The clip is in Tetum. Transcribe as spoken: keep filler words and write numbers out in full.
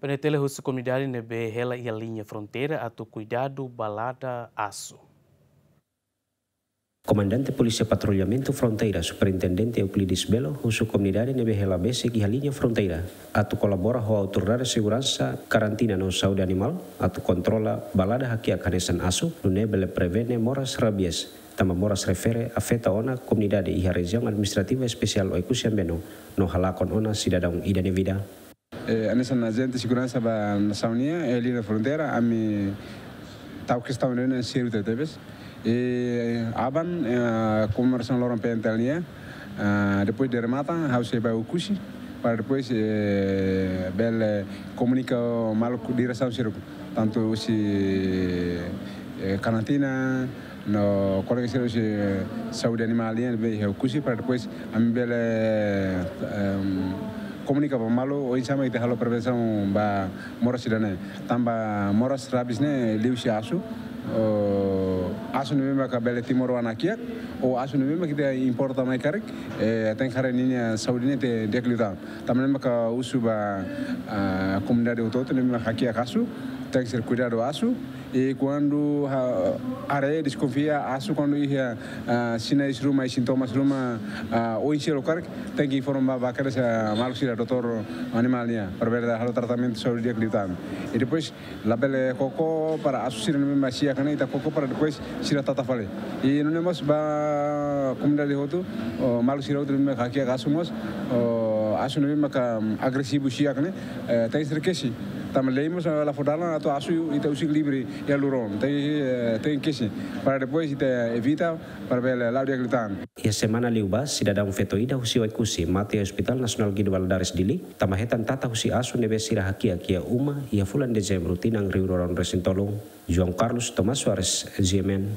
Nune'e tele husu komunidade ne'ebé hela iha liña fronteira atu kuidadu balada asu. Komandante Polísia Patrullamentu Fronteira, Superintendente Euclides Belo, husu komunidade ne'ebé hela besik iha liña fronteira atu kolabora ho autoridade seguransa, karantina no saúde animál atu kontrola balada hakiak hanesan asu, nune'e bele prevene moras rabies, tanba moras refere afeta ona komunidade iha Rejiaun Administrativa Espesiál Oekusi Ambeno, no halakon ona sidadaun ida nia vida. Eh, hanesan ajente seguransa ba nasaun nian, eh, liña fronteira, ami tau kestaun ne'e sériu tebes. Eh, aban, eh, komemorasaun loron P N T L nian, ah, depois de remata, ha'u sei ba Oekusi, para depois, eh, bele komunika maluk diresaun sira, tantu husi, eh, karantina, no kolega sira husi saúde animál nian ne'ebé iha Oekusi, para depois ami bele, em, komunika ba malu oinsá mak ita halo prevensaun ba moras ida-ne'e. Tanba moras rabies ne'e liuhusi asu, o, asu ne'ebé maka bele timoroan hakiak, ou asu ne'ebé maka ita importa mai karik, eh, tenke haree ninia saúde ne'e ita di'ak liután. Tanba ne'e maka husu ba, ah, komunidade hotu-hotu ne'ebé maka hakiak asu, tenke ser kuidadu asu, i kuandu ha-, haree deskonfia asu kuandu iha, ah, sinais ruma i sintomas ruma, ah, oinsá lokarik, tenke informa ba, ba kedas, ah, maluk sira doutór animál nian, para bele halo tratamentu saúde di'ak liután. I depois labele koko para asu sira ne'ebé mak siak ne'e ita koko para depois sira tata fali. I nune'e mós ba komunidade hotu, o, maluk sira hotu ne'ebé maka hakiak asu mós, o, asu ne'ebé maka, mm, agresivu siak ne'e, eh, tenke ser kesi. Tanba lei mós la fó dalan atu asu ita husik livre iha luron. Tenke, eh, tenke kesi. Para depois ita evita para bele la'o di'ak liután. Iha semana liubá, sidadaun feto ida husi Oekusi mate iha Hospital Nasionál Guido Valadares Dili, tanba hetan tata husi asu ne'ebé sira hakiak iha uma iha fulan Dezembru tinan rihun rua ruanulu resin tolu. João Carlos Tomás Soares, G M N,